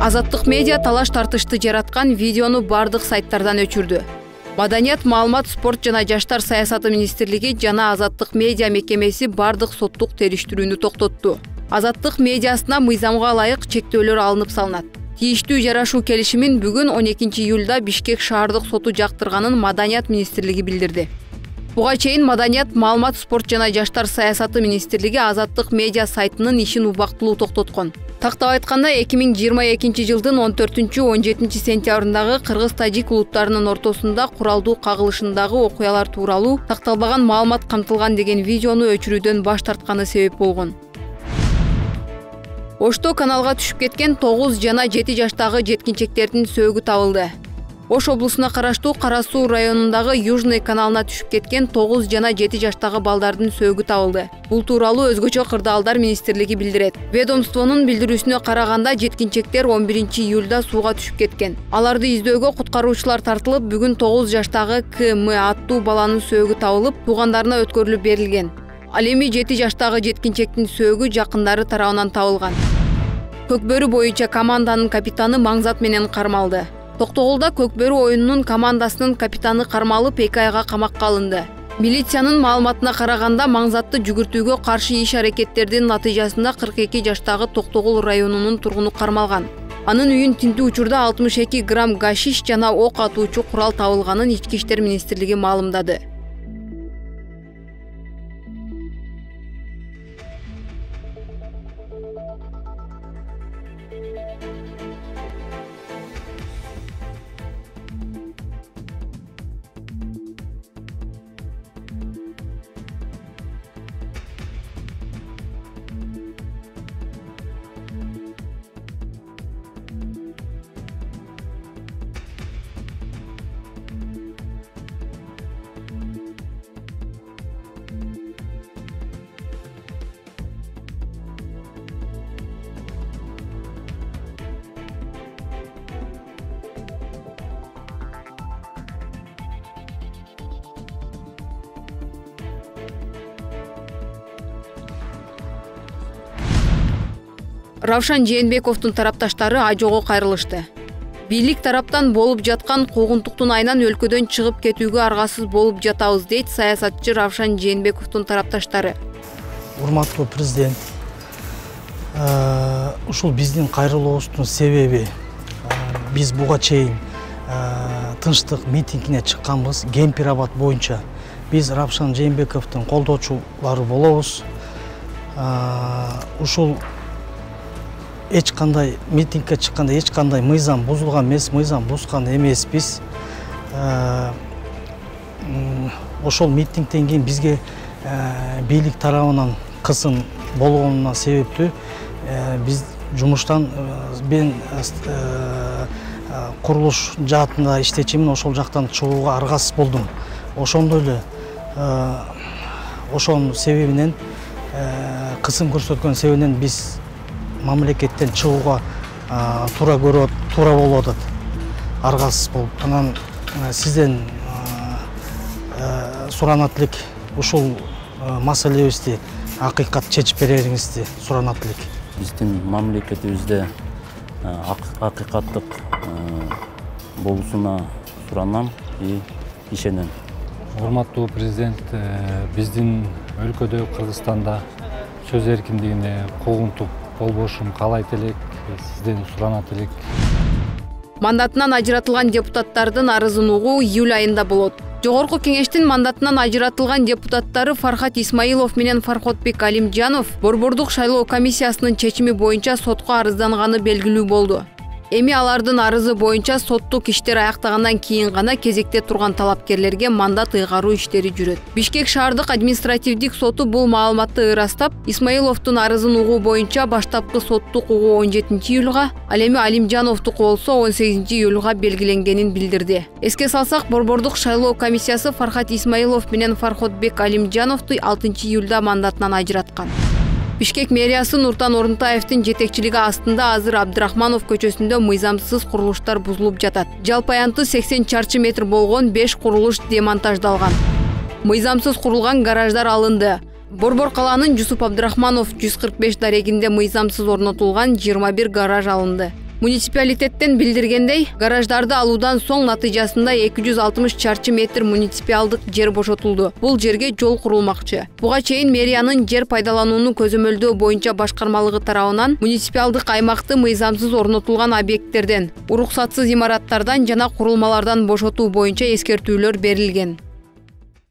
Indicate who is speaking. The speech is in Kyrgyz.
Speaker 1: Азаттык медиа талаш тартышты жараткан видеону бардык сайттардан өчүрдү. Маданият, маалымат, спорт жана жаштар саясаты министрлиги жана Азаттык медиа мекемеси бардык соттук териштирүүнү токтотту. Азаттык медиасына мыйзамга ылайык чектөөлөр алынып салынат. Тийиштүү жарашуу келишимин бүгүн 12 июлда Бишкек шаардык соту жактырганын Маданият министрлиги билдирди. Буга чейин Маданият, маалымат, спорт жана жаштар саясаты министрлиги Азаттык медиа сайтынын ишин убактылуу токтоткон. Тактап айтканда 2022 жылдын 14-17 сентябрындагы кыргыз-тажик улуттарынын ортосунда куралдуу кагылышындагы окуялар тууралуу такталбаган маалымат камтылган деген видеону өчүрүүдөн баш тартканы себеп болгон. Ошто каналга түшүп кеткен 9 жана 7 жаштагы жеткинчектердин сөөгү табылды. Ош облусуна караштуу Кара Суу районундагы Южный каналына түшүп кеткен 9 жана 7 жаштагы балдардын сөөгү табылды. Бул тууралуу өзгөчө кырдаалдар министрлиги билдирет. Ведомствонун билдирүүсүнө караганда жеткинчектер 11 июлда сууга түшүп кеткен. Аларды издөөгө куткаруучулар тартылып, бүгүн 9 жаштагы КМ аттуу баланын сөөгү табылып, туугандарына өткөрүлүп берилген. Ал эми 7 жаштагы жеткинчектин сөөгү жакындары тарабынан табылган. Көкбөрү боюнча команданын капитаны Маңзат менен кармалды. Токтогулда Көкбөрү оюнунун командасынын капитаны кармалып 2 айга камакка алынды. Милициянын маалыматына караганда Маңзатты жүгүртүүгө каршы иш-аракеттердин натыйжасында 42 жаштагы Токтогул районунун тургуну кармалган. Анын үйүн тинтүү учурда 62 грамм гашиш жана ок атуучу курал табылганын Ички иштер министрлиги маалымдады. Равшан Жээнбековдун тарапташтары ажоого кайрылышты. Бийлик тараптан болуп жаткан куугунтуктун айынан өлкөдөн чыгып кетүүгө аргасыз болуп жатабыз, дейт саясатчы Равшан Жээнбековдун тарапташтары.
Speaker 2: Урматтуу президент, ушул биздин кайрылуубуздун себеби биз буга чейин тынчтык митингине чыкканбыз. Кемпир-Абад боюнча биз Равшан Жээнбековдун колдоочулары болобуз. Ушул эч кандай митингге чыкканда эч кандай мыйзам бузулган эмес, мыйзам бузган эмеспиз. Ошол митингден кийин бизге бийлик тарабынан кысым болгонуна себептүү биз жумуштан мен курулуш жаатында иштечимин, ошол жактан чыгууга аргасыз болдум. Ошондой эле ошонун себебинен кысым көрсөткөн себебинен биз мамлекеттен чыгууга туура болуп атат, аргасыз болуп. Анан сизден суранат элек, ушул маселебизди акыйкат чечип берериңизди суранат элек.
Speaker 3: Биздин мамлекетибизде акыйкаттык болуусуна суранам и ишенем.
Speaker 4: Урматтуу президент, биздин өлкөдө, Кыргызстанда сөз эркиндигине куугунтук болбошун каалайт элек, сизден суранат элек.
Speaker 1: Мандатынан ажыратылган депутаттардын арызын угуу июль айында болот. Жогорку кеңештин мандатынан ажыратылган депутаттары Фархат Исмаилов менен Фарходбек Алимжанов Борбордук шайлоо комиссиясынын чечими боюнча сотко арызданганы белгилүү болду. Эми алардын арызы боюнча соттук иштер аяктагандан кийин гана кезекте турган талапкерлерге мандат ыйгаруу иштери жүрөт. Бишкек шаардык административдик соту бул маалыматты ырастап, Исмаиловдун арызын угуу боюнча баштапкы соттук угуу 17 июлга, ал эми Алимжановдуку болсо 18 июлга белгиленгенин билдирди. Эске салсак, Борбордук шайлоо комиссиясы Фархат Исмаилов менен Фарходбек Алимжановду 6 июлда мандатынан ажыраткан. Бишкек мэриясы Нуртан Орунтаевдин жетекчилиги астында азыр Абдрахманов көчөсүндө мыйзамсыз курулуштар бузулуп жатат. Жалпы аянты 80 чарчы метр болгон 5 курулуш демонтаждалган. Мыйзамсыз курулган гараждар алынды. Борбор калаанын Жусуп Абдрахманов 145 дарегинде мыйзамсыз орнотулган 21 гараж алынды. Муниципалитеттен билдиргендей, гараждарды алуудан соң натыйжасында 260 чарчы метр муниципалдык жер бошотулду. Бул жерге жол курулмакчы. Буга чейин мэриянын жер пайдаланууну көзөмөлдөө боюнча башкармалыгы тарабынан муниципалдык аймакты мыйзамсыз орнотулган объекттерден, уруксатсыз имараттардан жана курулмалардан бошотуу боюнча эскертүүлөр берилген.